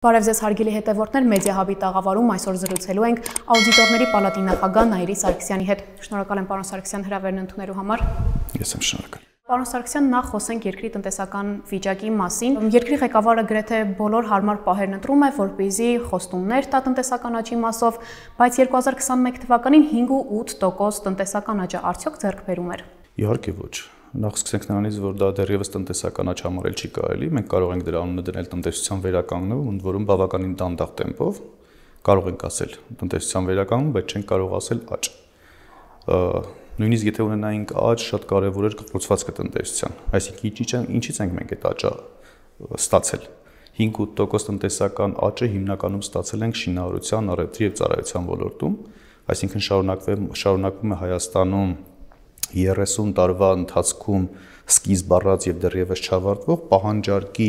Բարև ձեզ հարգելի հետևորդներ, Մեդիահաբի տաղավարում այսօր զրուցելու ենք աուդիտորների պալատի նախագահ Նայիրի Սարգսյանի հետ։ Շնորհակալ եմ պարոն Սարգսյան հրավերն ընդունելու համար։ Ես եմ շնորհակալ։ Պարոն Սարգսյան, նախ խոսենք երկրի տնտեսական վիճակի մասին։ Երկրի ղեկավարը գրեթե բոլոր հարմար պահերն ընտրում է, որպեսզի խոստումներ տա տնտեսական աճի մասով, բայց 2021 թվականին 5.8% տնտեսական աճը արդյոք ձեռք բերում էր։ Իհարկե ոչ։ Նախ սկսենք նրանից, որ դա դեռևս տնտեսական աճ համարել չի կարելի։ Մենք կարող ենք դրա անունը դնել տնտեսության վերականգնում, ընդ որում բավականին դանդաղ տեմպով կարող ենք ասել տնտեսության վերականգնում, բայց չենք կարող ասել աճ։ Նույնիսկ եթե ունենայինք աճ, շատ կարևոր էր կառուցվածքը տնտեսության։ Այսինքն ինչից ենք մենք այդ աճը ստացել։ 5.8% տնտեսական աճը հիմնականում ստացել ենք շինարարության, առևտրի եւ ծառայության ոլորտում, այսինքն շարունակվում է Հայաստանում 30 տարվա ընթացքում սկիզբ առած եւ դեռևս չավարտվող պահանջարկի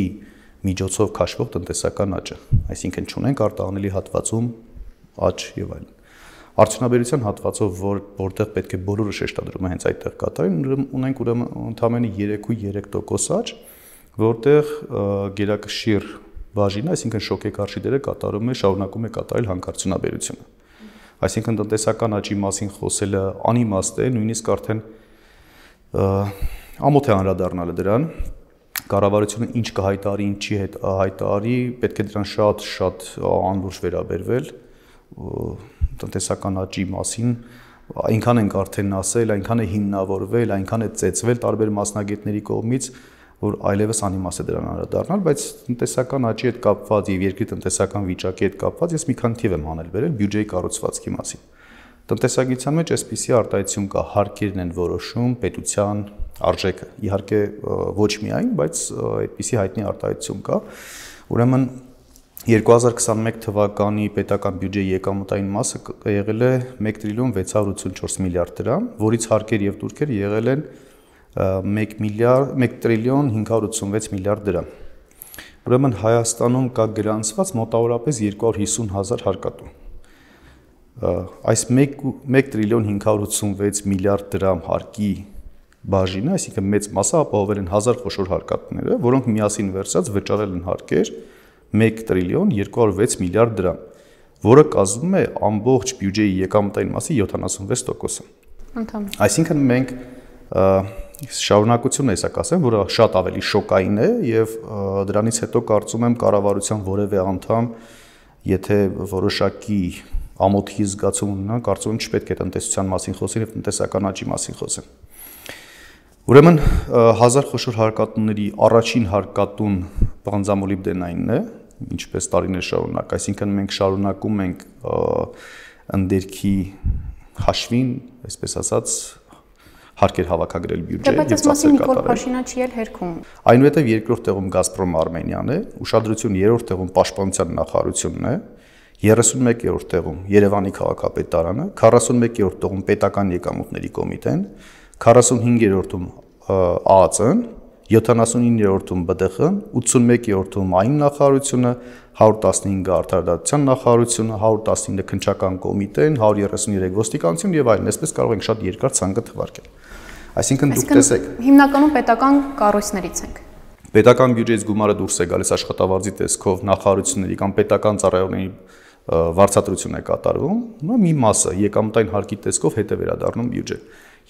միջոցով քաշվող տնտեսական աճը, այսինքն չունենք արտահանելի հատվածում աճ եւ այլն։ Արդյունաբերության հատվածով, որտեղ պետք է բոլորը շեշտադրումը հենց այդտեղ կատարեն, ունենք ուրեմն ընդամենը 3.3% աճ, որտեղ գերակշիռ բաժինը, այսինքն շոկեկարշի դերը շարունակում է կատարել հանքարդյունաբերությունը։ Այսինքն տնտեսական աճի մասին խոսելը անիմաստ է, նույնիսկ արդեն ամոթ է անդրադառնալը դրան։ Կառավարությունը ինչ կհայտարարի, ինչ չի հայտարարի, պետք է դրան շատ անլուրջ վերաբերվել տնտեսական աճի մասին, այնքան ենք արդեն ասել, այնքան է հիմնավորվել, այնքան է ծեծվել տարբեր մասնագետների կողմից, որ այլևս անիմաստ է դրան անդրադառնալ, բայց տնտեսական աճի հետ կապված եւ երկրի տնտեսական վիճակի հետ կապված ես մի քանի թիվ եմ անել վերել բյուջեի կառուցվածքի մասին։ Տնտեսագիտության մեջ այսպիսի արտահայտություն կա, հարկերն են որոշում պետության արժեքը։ Իհարկե ոչ միայն, բայց այդպիսի հայտնի արտահայտություն կա։ Ուրեմն 2021 թվականի պետական բյուջեի եկամտային մասը եղել է 1 տրիլիոն 684 միլիարդ դրամ, որից հարկեր եւ տուրքեր եղել են 1 տրիլիոն 586 միլիարդ դրամ։ Ուրեմն Հայաստանում կա գրանցված մոտավորապես 250,000 հարկատու։ Այս 1 տրիլիոն 586 միլիարդ դրամ հարկի բաժինը, այսինքն մեծ մասը ապահովել են 1000 խոշոր հարկատուները, որոնք միասին վերցած վճարել են հարկեր 1 տրիլիոն 206 միլիարդ դրամ, որը կազմում է ամբողջ բյուջեի եկամտային մասի 76%-ը։ Այսինքն մենք շարունակություն է սա կասեմ, որը շատ ավելի շոկային է եւ դրանից հետո կարծում եմ կառավարության որևէ անդամ, եթե որոշակի ամոթի զգացում ունենա, կարծում եմ չպետք է տնտեսության մասին խոսեն եւ տնտեսական աճի մասին խոսեն։ Ուրեմն 1000 խոշոր հարկատուների առաջին հարկատուն բանձամոլիբդենայինն է, ինչպես տարիներ շարունակ, այսինքն մենք շարունակում ենք ընդերքի հաշվին, այսպես ասած, հարկեր հավաքագրել բյուջեի եւ ծախսեր կատարել։ Բայց այս մասին Նիկոլ Փաշինյանը չի էլ հերքում։ Այնուհետև երկրորդ տեղում Գազպրոմ Արմենիան է, ուշադրություն երրորդ տեղում Պաշտպանության նախարարությունն է, 31-րդ տեղում Երևանի քաղաքապետարանը, 41-րդ տեղում Պետական եկամուտների կոմիտեն, 45-րդում ԱԱԾ-ն, 79-րդում ԲԴԽ-ն, 81-րդում այն նախարարությունը, 115-ը արդարադատության նախարարությունը, 119-ը քննչական կոմիտեն, 133 ոստիկանություն եւ այլն, այսպես կարող ենք շատ երկար ցանկը թվարկել։ Այսինքն դուք տեսեք, հիմնականում պետական կառույցներից ենք։ Պետական բյուջեից գումարը դուրս է գալիս աշխատավարձի տեսքով նախարարությունների կամ պետական ծառայողների վարձատրություն է կատարվում, մի մասը եկամտային հարկի տեսքով հետ է վերադառնում բյուջե։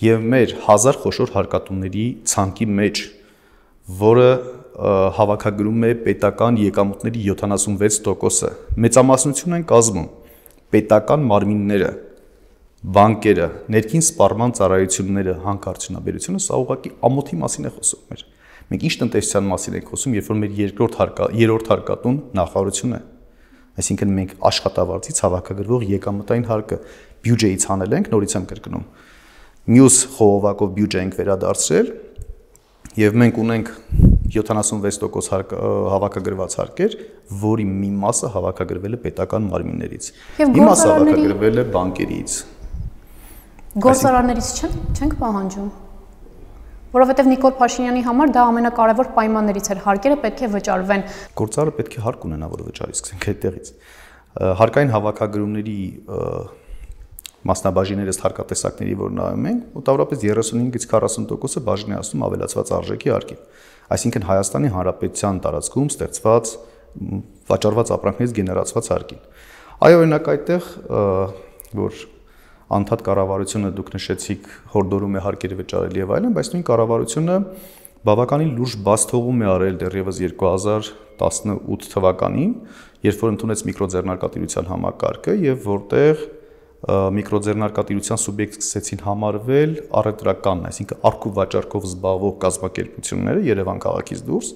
Եվ մեր 1000 խոշոր հարկատուների ցանկի մեջ, որը հավաքագրում է պետական եկամուտների 76%-ը, մեծամասնություն են կազմում պետական մարմինները, բանկերը, ներքին սպառման ծառայությունները, հանքարդյունաբերությունը, սա ուղղակի ամոթի մասին է խոսում մեր։ Մենք ինչ տնտեսության մասին ենք խոսում, երբ որ մեր երրորդ հարկատուն նախարարությունն է։ Այսինքն մենք աշխատավարձից հավաքագրվող եկամտային հարկը բյուջեից հանել ենք, նորից եմ կրկնում։ Մյուս խողովակով բյուջե ենք վերադարձրել եւ մենք ունենք 76% հավաքագրված հարկեր, որի մի մասը հավաքագրվել է պետական մարմիններից։ Մի մասը հավաքագրվել է բանկերից։ Գործարարներից չենք պահանջում։ Որովհետև Նիկոլ Փաշինյանի համար դա ամենակարևոր պայմաններից էր, հարկերը պետք է վճարվեն։ Գործարարը պետք է հարկ ունենա, որ վճարի, սկսենք այդտեղից։ Հարկային հավաքագրումների մասնաբաժիներս հարկատեսակների, որ նայում ենք, մոտավորապես 35-ից 40%-ը բաժին է ասում ավելացված արժեքի հարկին։ Այսինքն Հայաստանի Հանրապետության տարածքում ստեղծված վաճառված ապրանքներից գեներացված հարկին։ Այո, օրինակ այդտեղ որ անդադ կառավարությունը դուք նշեցիք հորդորում է հարկերը վճարել եւ այլն, բայց նույն կառավարությունը բավականին լուրջ բաց թողում է արել դեռևս 2018 թվականին, երբ որ ընդունեց միկրոձեռնարկատիրության համակարգը եւ որտեղ միկրոձեռնարկատիրության սուբյեկտ սկսեցին համարվել առևտրական, այսինքն արք ու վաճառքով զբաղվող կազմակերպությունները Երևան քաղաքից դուրս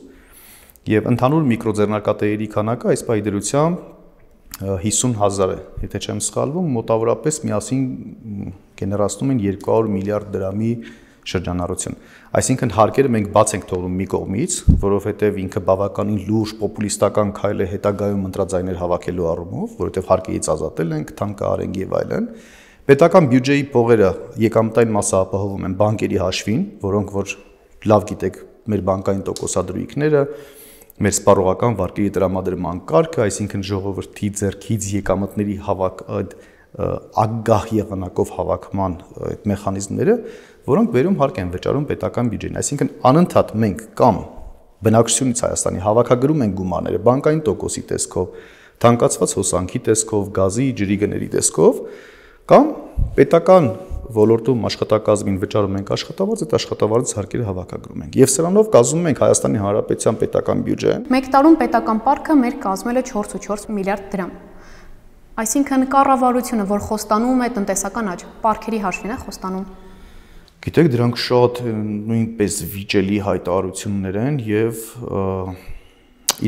եւ ընդհանուր միկրոձեռնարկատերերի քանակը այս պայդրությամբ 50,000 է, եթե չեմ սխալվում, մոտավորապես միասին գեներացնում են 200 միլիարդ դրամի շրջանառություն։ Այսինքն հարկերը մենք բաց ենք թողնում մի կողմից, որովհետև ինքը բավականին լուրջ պոպուլիստական քայլ է հետագայում ընտրաձայներ հավաքելու առումով, որովհետև հարկերից ազատել ենք, թանկարենք եւ այլն։ Պետական բյուջեի փողերը եկամտային մասը ապահովում են բանկերի հաշվին, որոնք որ լավ գիտեք, մեր բանկային տոկոսադրույքները, մեր սպառողական վարկերի տրամադրման կարգը, այսինքն ժողովրդի ձեռքից եկամտների ագահ եղանակով հավաքման այդ մեխանիզմները, որոնք վերում հարկ են վճարում պետական բյուջեին, այսինքն անընդհատ մենք կամ բնակչությունից Հայաստանի հավաքագրում են գումարները բանկային տոկոսի տեսքով, թանկացված հոսանքի տեսքով, գազի, ջրի գների տեսքով, կամ պետական ոլորտում աշխատակազմին վճարում ենք աշխատավարձ, այդ աշխատավարձից հարկերը հավաքագրում ենք։ Եվ սրանով կազմում ենք Հայաստանի Հանրապետության պետական բյուջեն։ Մեկ տարում պետական պարտքը մեր կազմել է 4.4 միլիարդ դրամ։ Այսինքն կառավարությունը, որ խոստանում է տնտեսական աճ, պարտքերի հաշվին է խոստանում։ Գիտեք, դրանք շատ նույնպես վիճելի հայտարարություններ են եւ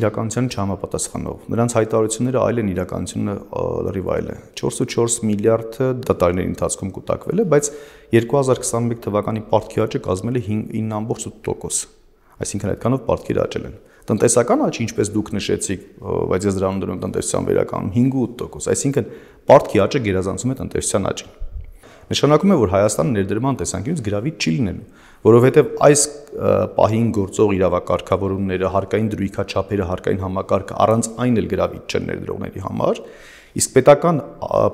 իրականությանը չհամապատասխանող։ Նրանց հայտարարությունները այլ են, իրականությունը լրիվ այլ է։ 4.4 միլիարդը տարիների ընթացքում կուտակվել է, բայց 2021 թվականի պարտքի աճը կազմել է 9.8%։ Այսինքն այդքանով պարտքերը աճել են։ Տնտեսական աճը, ինչպես դուք նշեցիք, բայց ես դրանում դնում տնտեսության վերականգնում 5.8%, այսինքն պարտքի աճը գերազանցում է տնտեսության աճին։ Նշանակում է, որ Հայաստանը ներդրման տեսանկյունից գրավիչ չի լինելու, որովհետև այս պահին գործող իրավակարգավորումները, հարկային դրույքաչափերը, հարկային համակարգը առանց այն էլ գրավիչ չեն ներդրողների համար, իսկ պետական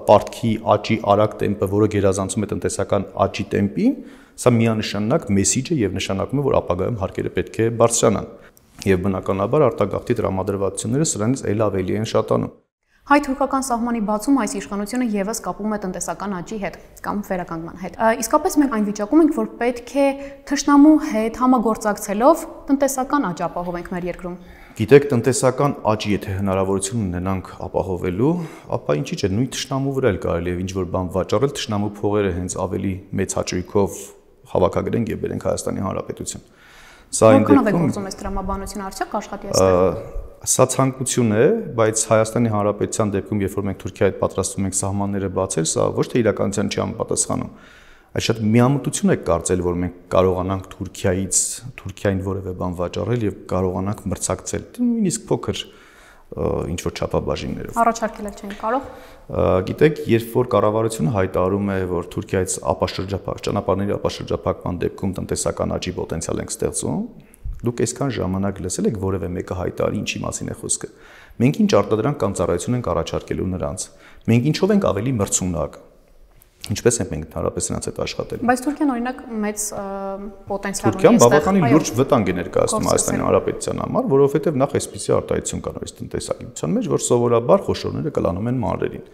պարտքի աճի արագ տեմպը, որը գերազանցում է տնտեսական աճի տեմպին, սա միանշանակ մեսիջ է եւ նշանակում է, որ ապագայում հարկերը պետք է բարձրանան։ Եվ բնականաբար արտագաղթի տրամադրվածությունները սրանից էլ ավելի են շատանում։ Հայ-թուրքական սահմանի բացում այս իշխանությունը եւս կապում է տնտեսական աճի հետ կամ վերականգնման հետ։ Իսկապես մենք այն վիճակում ենք, որ պետք է թշնամու հետ համագործակցելով տնտեսական աճ ապահովենք մեր երկրում։ Գիտեք, տնտեսական աճի եթե հնարավորություն ունենանք ապահովելու, ապա ինչի՞ չէ, նույն թշնամու վրա էլ կարելի է ինչ-որ բան վաճառել, թշնամու փողերը հենց ավելի մեծ հաճույքով հավաքագրենք եւ բերենք Հայաստանի Հանրապետություն։ Սա այն դեպքում գործում է տրամաբանությունը արդյոք աշխատի այստեղ։ Սա ցանկություն է, բայց Հայաստանի Հանրապետության դեպքում, երբ որ մենք Թուրքիայի հետ պատրաստվում ենք սահմանները բացել, սա ոչ թե իրականության չի համապատասխանում, այլ շատ միամտություն է կարծել, որ մենք կարողանանք Թուրքիային որևէ բան վաճառել եւ կարողանանք մրցակցել, նույնիսկ փոքր ինչ որ չափաբաժիններով։ Առաջարկել չեն կարող։ Գիտեք, երբ որ կառավարությունը հայտարարում է, որ Թուրքիայից ճանապարհների ապաշրջափակման դեպքում տնտեսական աճի պոտենցիալ ենք ստեղծում, դուք այսքան ժամանակ լսել եք որևէ մեկը հայտարարի ինչի մասին է խոսքը։ Մենք ինչ արտադրանք կամ ծառայություն ենք առաջարկելու նրանց։ Մենք ինչով ենք ավելի մրցունակ։ Ինչպես ենք մենք ընդհանրապես նրանց հետ աշխատելու։ Բայց Թուրքիան օրինակ մեծ պոտենցիալ ունի այստեղ։ Թուրքիան բավականին լուրջ վտանգ է ներկայացնում Հայաստանի Հանրապետության համար, որովհետև նախ այսպիսի արտահայտություն կա նորից տնտեսագիտության մեջ, որ սովորաբար խոշորները կլանում են մանրերին։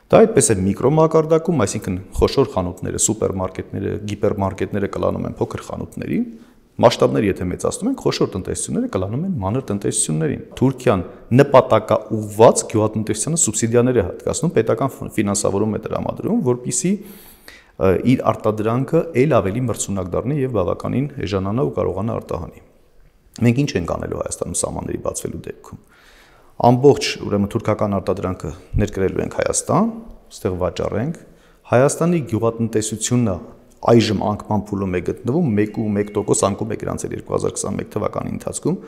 Դա այդպես է միկրոմակարդակում, այսինքն խոշոր խանութները, սուպերմարկետները, գիպերմարկետները կլանում են փոքր խանութներին, մասշտաբները եթե մեծացնում են, խոշոր տնտեսությունները կլանում են մանր տնտեսություններին։ Թուրքիան նպատակաուղղված գյուղատնտեսությանը սուբսիդիաներ է հատկացնում, պետական ֆինանսավորում է տրամադրում, որպեսզի իր արտադրանքը ել ավելի մրցունակ դառնի եւ բավականին էժանանա ու կարողանա արտահանի։ Մենք ինչ ենք անելու Հայաստանում սահմանների բացվելու դեպքում։ Ամբողջ ուրեմն թուրքական արտադրանքը ներկրելու ենք Հայաստան, այստեղ վաճառենք։ Հայաստանի գյուղատնտեսությունը այժմ անկման փուլում է գտնվում 1.1% անկում է գրանցել 2021 թվականի ընթացքում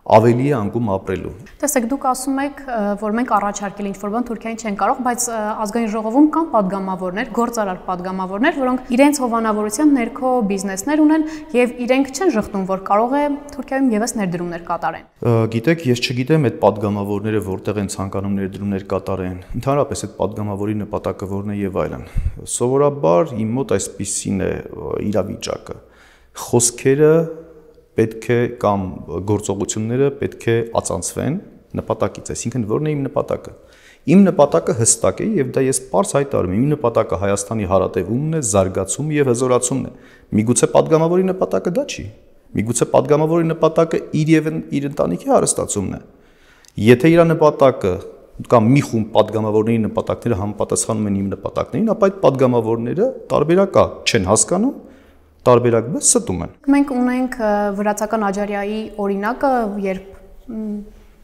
ավելի է անկում ապրելու։ Տեսեք, դուք ասում եք, որ մենք առաջարկել ինչ-որ բան Թուրքիային չեն կարող, բայց ազգային ժողովում կան падգամավորներ, գործարար падգամավորներ, որոնք իրենց հովանավորության ներքո բիզնեսներ ունեն եւ իրենք չեն շղթում, որ կարող է Թուրքիայում եւս ներդրումներ կատարեն։ Գիտեք, ես չգիտեմ այդ падգամավորները որտեղ են ցանկանում ներդրումներ կատարեն։ Ընդհանրապես այդ падգամավորի նպատակը որն է եւ այլն։ Սովորաբար իմ մոտ այսպիսին է իրավիճակը։ Խոսքերը պետք է կամ գործողությունները պետք է ածանցվեն նպատակից, այսինքն որն է իմ նպատակը։ Իմ նպատակը հստակ է եւ դա ես պարզ հայտարարում եմ, իմ նպատակը Հայաստանի հարատևումն է, զարգացումն եւ հզորացումն է։ Միգուցե падգամավորի նպատակը դա չի։ Միգուցե падգամավորի նպատակը իր ընտանիքի հարստացումն է։ Եթե իր նպատակը կամ մի խումբ падգամավորների նպատակները համապատասխանում են իմ նպատակներին, ապա այդ падգամավորները տարբերակա չեն հասկանում, տարբերակ բես ստում են։ Մենք ունենք վրացական Աջարիայի օրինակը, երբ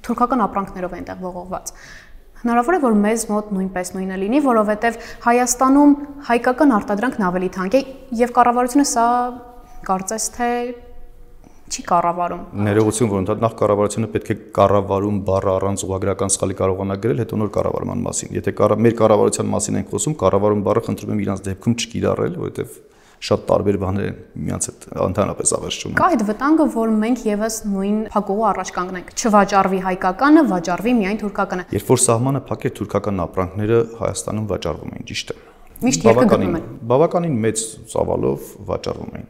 թուրքական ապրանքներով են տեղ ողողված։ Հնարավոր է, որ մեզ մոտ նույնպես նույնը լինի, որովհետև Հայաստանում հայկական արտադրանքն ավելի թանկ է եւ կառավարությունը սա կարծես թե չի կառավարում։ Ներողություն, որ ընդհանուր նախ կառավարությունը պետք է կառավարում բառը առանց ուղղագրական սխալի կարողանա գրել, հետո նոր կառավարման մասին։ Եթե մեր կառավարության մասին ենք խոսում, կառավարում բառը խնդրում եմ իրանց դեպքում չկիրառել, որովհետև շատ տարբեր բաներ են միմյանց հետ ընդհանրապես ավերժում։ Կա այդ վտանգը, որ մենք եւս նույն փակուղու առաջ կանգնենք։ Չվաճառվի հայկականը, վաճառվի միայն թուրքականը։ Երբ որ սահմանը փակեր, թուրքական ապրանքները Հայաստանում վաճառվում էին, ճիշտ է։ Միշտ երկը գտնում են։ Բավականին մեծ ծավալով վաճառվում էին։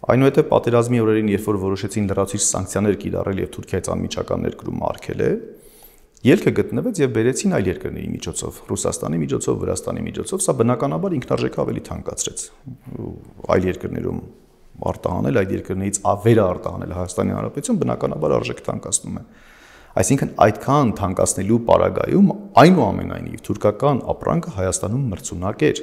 Այնուհետև պատերազմի օրերին, երբ որ որոշեցին լրացուցիչ սանկցիաներ կիրառել եւ Թուրքիայից անմիջական ներկրում արգելել, ելքը գտնվեց եւ բերեցին այլ երկրների միջոցով, Ռուսաստանի միջոցով, Վրաստանի միջոցով, սա բնականաբար ինքնարժեքը ավելի թանկացրեց։ Այլ երկրներում արտահանել, այդ երկրներից վերարտահանել Հայաստանի Հանրապետություն բնականաբար արժեք թանկացնում է։ Այսինքն այդքան թանկացնելու պարագայում այնուամենայնիվ թուրքական ապրանքը Հայաստանում մրցունակ էր։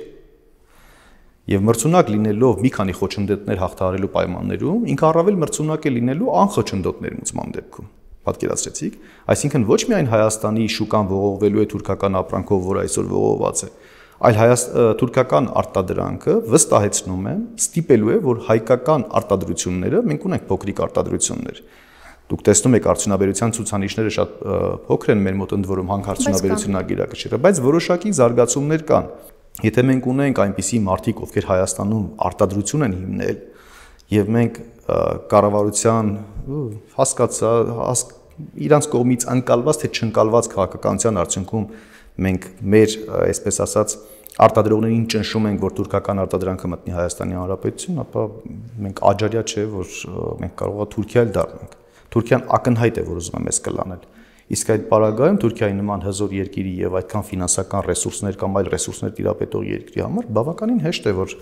Եվ մրցունակ լինելով մի քանի խոչընդոտներ հաղթահարելու պայմաններում, ինքը առավել մրցունակ է լինելու անխոչընդոտներ մուծման դեպքում։ Պատկերացրեցիք, այսինքն ոչ միայն Հայաստանի շուկան ողողվելու է թուրքական ապրանքով, որ այսօր ողողված է, այլ թուրքական արտադրանքը վստահեցնում է, ստիպելու է, որ հայկական արտադրությունները, մենք ունենք փոքրիկ արտադրություններ։ Դուք տեսնում եք արդյունաբերության ցուցանիշները շատ փոքր են մեր մոտ, ընդ որում հանքարդյունաբերությունն ագիրակշիռ է, բայց որոշակի զարգացումներ կան։ Եթե մենք ունենք այնպիսի մարդիկ, ովքեր Հայաստանում արտադրություն են հիմնել, եւ մենք կառավարության իրանց կողմից անկալված թե չընկալված քաղաքականության արդյունքում մենք մեր, այսպես ասած, արտադրողներին ճնշում ենք, որ թուրքական արտադրանքը մտնի Հայաստանի Հանրապետություն, ապա մենք Աջարիա չէ, որ մենք կարող է Թուրքիա էլ դառնանք։ Թուրքիան ակնհայտ է, որ ուզում է մեզ կլանել։ Իսկ այդ պարագայում Թուրքիայի նման հզոր երկրի եւ այդքան ֆինանսական ռեսուրսներ կամ այլ ռեսուրսներ տիրապետող երկրի համար բավականին հեշտ է, որ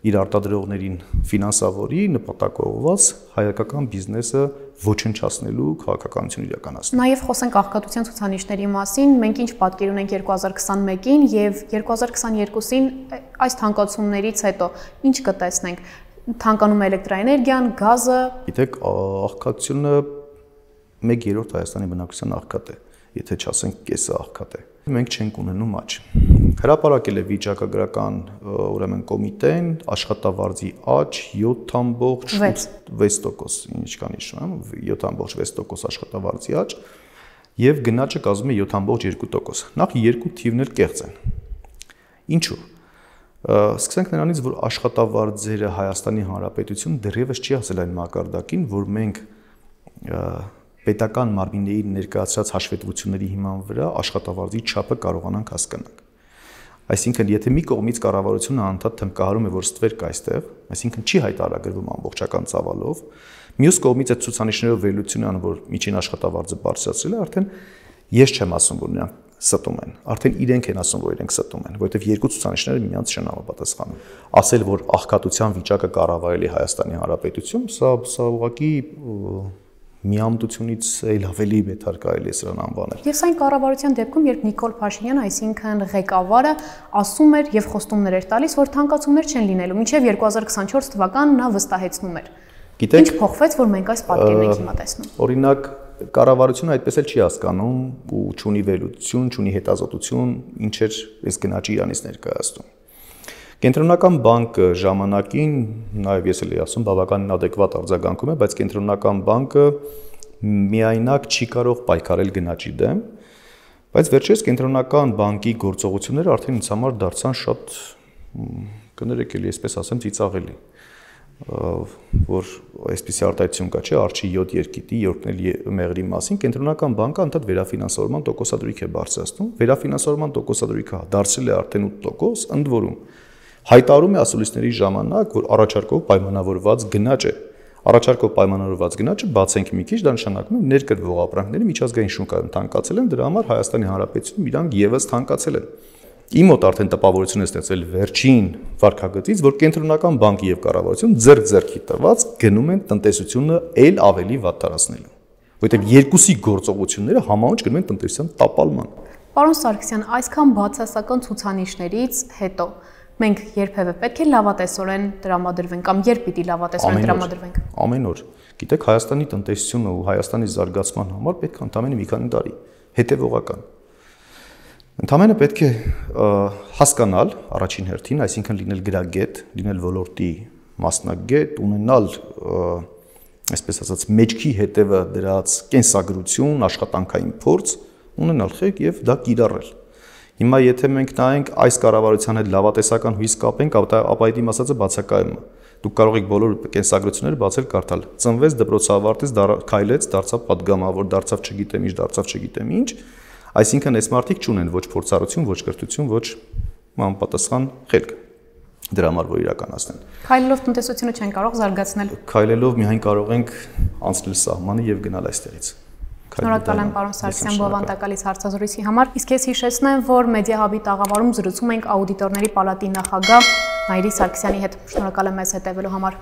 իր արտադրողներին ֆինանսավորի նպատակողված հայկական բիզնեսը ոչնչացնելու քաղաքականություն իրականացնի։ Նաև խոսենք աղքատության ցուցանիշների մասին, մենք ինչ պատկեր ունենք 2021-ին եւ 2022-ին այս թանկացումներից հետո ինչ կտեսնենք։ Թանկանում է էլեկտրաէներգիան, գազը։ Գիտեք, աղքատությունը 1/3 Հայաստանի բնակչության աղքատ է, եթե չասենք կեսը աղքատ է։ Մենք չենք ունենում աճ։ Հրապարակել է վիճակագրական ուրեմն կոմիտեն աշխատավարձի աճ 7.6%, ինչքան հիշում եմ, 7.6% աշխատավարձի աճ եւ գնաճը կազմում է 7.2%։ Նախ երկու թիվներ կեղծ են։ Ինչու՞։ Սկսենք նրանից, որ աշխատավարձերը Հայաստանի Հանրապետություն դեռևս չի հասել այն մակարդակին, որ մենք պետական մարմինների ներկայացրած հաշվետվությունների հիման վրա աշխատավարձի չափը կարողանանք հասկանալ։ Այսինքն, եթե մի կողմից կառավարությունը անդադ թմկահարում է, որ ստվեր կա այստեղ, այսինքն չի հայտարարագրվում ամբողջական ծավալով, մյուս կողմից այդ ցուցանիշներով վերլուծություն անում, որ միջին աշխատավարձը բարձրացրել է, արդեն ես չեմ ասում, որ նրանք ստում են, արդեն իրենք են ասում, որ իրենք ստում են, որովհետև երկու ցուցանիշները միմյանց չեն համապատասխանում։ Ասել, որ աղքատության վիճակը կառավարել է Հայաստանի Հանրապետություն, սա ուղղակի միամտությունից էլ ավելի բետար կարելի է սրան անվանել։ Ես այն կառավարության դեպքում, երբ Նիկոլ Փաշինյանը, այսինքն ղեկավարը, ասում էր եւ խոստումներ էր տալիս, որ թանկացումներ չեն լինելու, մինչեւ 2024 թվականն նա վստահեցնում էր։ Ինչ փոխվեց, որ մենք այս պատկերն ենք հիմա տեսնում։ Օրինակ, կառավարությունը այդպես էլ չի հասկանում ու չունի վերլուծություն, չունի հետազոտություն, ինչ էր այս գնաճի Իրանից ներկայացնում։ Կենտրոնական բանկը ժամանակին, նաև ես էլ ասում, բավականին adekvat արձագանքում է, բայց կենտրոնական բանկը միայնակ չի կարող պայքարել գնաճի դեմ, բայց վերջերս կենտրոնական բանկի գործողությունները արդեն ինձ համար դարձան շատ, կներեք էլի, այսպես ասեմ, ծիծաղելի, որ այսպիսի արտահայտություն կա, չէ, արջի 7 երկիտի, երկնել մեղրի մասին, կենտրոնական բանկը անդադ վերաֆինանսավորման տոկոսադրույք է բարձրացնում, վերաֆինանսավորման տոկոսադրույքը դարձել է արդեն 8%, ընդ որում հայտարարում է ասուլիսների ժամանակ, որ առաջարկով պայմանավորված գնաճ է, Առաջարկով պայմանավորված գնաճը բացենք մի քիչ, դա նշանակում է ներկրվող ապրանքների միջազգային շուկայում թանկացել են, դրա համար Հայաստանի Հանրապետությունում իրանք եւս թանկացել են։ Իմ մոտ արդեն տպավորություն է ստեղծել վերջին վարկագծից, որ կենտրոնական բանկի եւ կառավարություն ձեռք-ձեռքի տված գնում են տնտեսությունը ել ավելի վատթարացնելու, որովհետեւ երկուսի գործողությունները համահունչ գնում են տնտեսության տապալման։ Պարոն Սարգսյան, այսքան բացասական ցուցանիշներից հետո մենք երբևէ պետք է լավատեսորեն տրամադրվենք կամ երբ պիտի լավատեսորեն տրամադրվենք։ Ամեն օր։ Գիտեք, Հայաստանի տնտեսությունը ու Հայաստանի զարգացման համար պետք է ընդամենը մի քանի տարի հետևողական։ Ընդամենը պետք է հասկանալ առաջին հերթին, այսինքն լինել գրագետ, լինել ոլորտի մասնագետ, ունենալ, այսպես ասած, մեջքի հետևը դրած կենսագրություն, աշխատանքային փորձ, ունենալ խեք եւ դա կիրառել։ Հիմա եթե մենք նայենք այս կառավարության հետ լավատեսական հույս կապենք, ապա այդ իմ ասածը բացակայում է։ Դուք կարող եք բոլոր կենսագրությունները բացել կարդալ։ Ծնվեց, դպրոցը ավարտեց, քայլեց, դարձավ падգամավոր, դարձավ չգիտեմ ինչ, դարձավ չգիտեմ ինչ։ Այսինքն այս մարդիկ չունեն ոչ փորձառություն, ոչ կրթություն, ոչ համապատասխան խելք դրա համար որ իրականացնեն։ Քայլելով տնտեսությունը չեն կարող զարգացնել։ Քայլելով միայն կարող ենք անցնել սահմանը եւ գնալ այստեղից։ Շնորհակալ եմ պարոն Սարգսյան բովանդակալից հարցազրույցի համար։ Իսկ ես հիշեցնեմ, որ Մեդիահաբի տաղավարում զրուցում ենք աուդիտորների պալատի նախագահ Նայիրի Սարգսյանի հետ։ Շնորհակալ եմ մեզ հետևելու համար։